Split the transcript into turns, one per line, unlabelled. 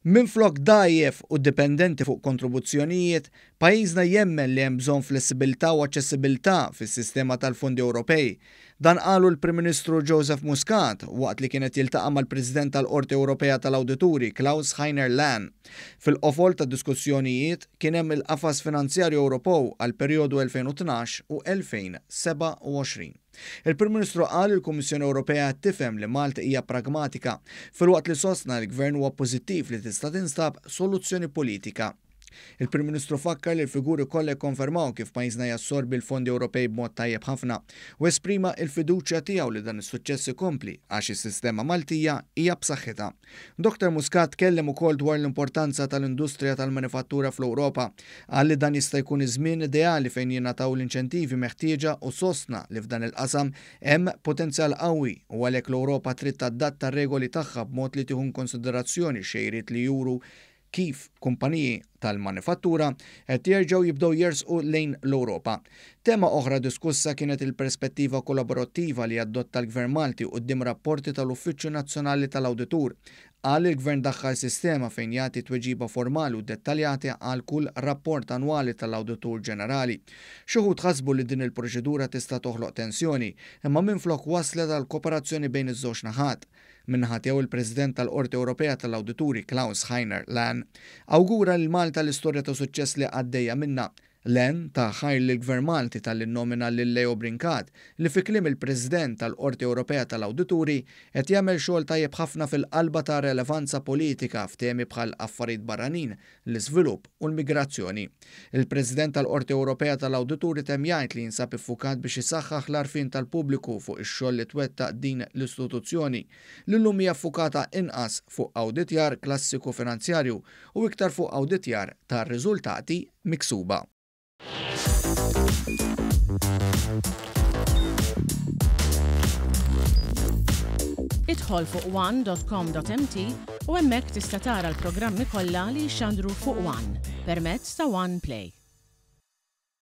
Minflok dgħajjef u dipendenti fuq kontribuzzjonijiet, pajjiżna jemmen li hemm bżonn flessibilità u aċċessibilità fis-sistema tal-fondi Ewropej. Dan qalu l-Prim Ministru Joseph Muscat waqt li kien qed jiltaqa' mal-President tal-Qorti Ewropea tal-Awdituri Klaus Heiner Lehne. Fil-qofol tad-diskussjonijiet kien hemm il-qafas finanzjarju Ewropew għall-perjodu 2012 u 2027. Il-Prim Ministru qal li l-Kummissjoni Ewropea qed tifhem li Malta hija pragmatika, filwaqt li sostna li l-Gvern huwa pożittiv li tista' tinstab soluzzjoni politika. Il-Prim Ministru fakkar li l-figuri kollha jikkonfermaw kif pajjiżna jassorbi l-fondi Ewropej b'mod tajjeb ħafna u esprima l-fiduċja tiegħu li dan is-suċċess ikompli għax is-sistema Maltija hija b'saħħitha. Dottor Muscat tkellem ukoll dwar l-importanza tal-industrija tal-manifattura fl-Ewropa. Qal li dan jista' jkun iż-żmien ideali fejn jingħataw l-inċentivi meħtieġa u sostna li f'dan il-qasam hemm potenzjal qawwi u għalhekk l-Ewropa trid tadatta r-regoli tagħha b'mod li tieħu inkonsiderazzjoni x-xejriet li juru kif kumpaniji tal-manifattura qed jerġgħu jibdew jersqu lejn l-Ewropa. Tema oħra diskussa kienet il-perspettiva kollaborattiva li adotta l-Gvern Malti quddiem rapporti tal-Uffiċċju Nazzjonali tal-Awditur. Qal li l-Gvern daħħal sistema fejn jagħti tweġiba formali u dettaljati għal kull rapport annwali tal-Awditur Ġenerali. Xi wħud ħasbu li din il-proċedura tista' toħloq tensjoni, imma minflok wasslet għal kooperazzjoni bejn iż-żewġ naħat. Min-naħa tiegħu il-President tal-Qorti Ewropea tal-Awdituri Klaus Heiner Lehne awgura lil Malta l-istorja ta' suċċess li għaddejja minnha. Lehne ta ħajr lill-Gvern Malti talli nnomina lil Leo Brincat li fi kliem il-President tal-Qorti Ewropea tal-Awdituri qed jagħmel xogħol tajjeb ħafna fil-qalba ta' relevanza politika f'temi bħal affarijiet barranin, l-iżvilupp u l-migrazzjoni. Il-President tal-Qorti Ewropea tal-Awdituri temm jgħid li jinsab iffukat biex isaħħaħ l-għarfien tal-pubbliku fuq ix-xogħol li twettaq din l-istituzzjoni, li llum hija ffukata inqas fuq awditjar klassiku finanzjarju u iktar fuq awditjar tar-riżultati miksuba.
Idħol fuq one.com.mt u hemmhekk tista' tara l-programmi kollha li jixxandru fuq One permezz ta' One Play.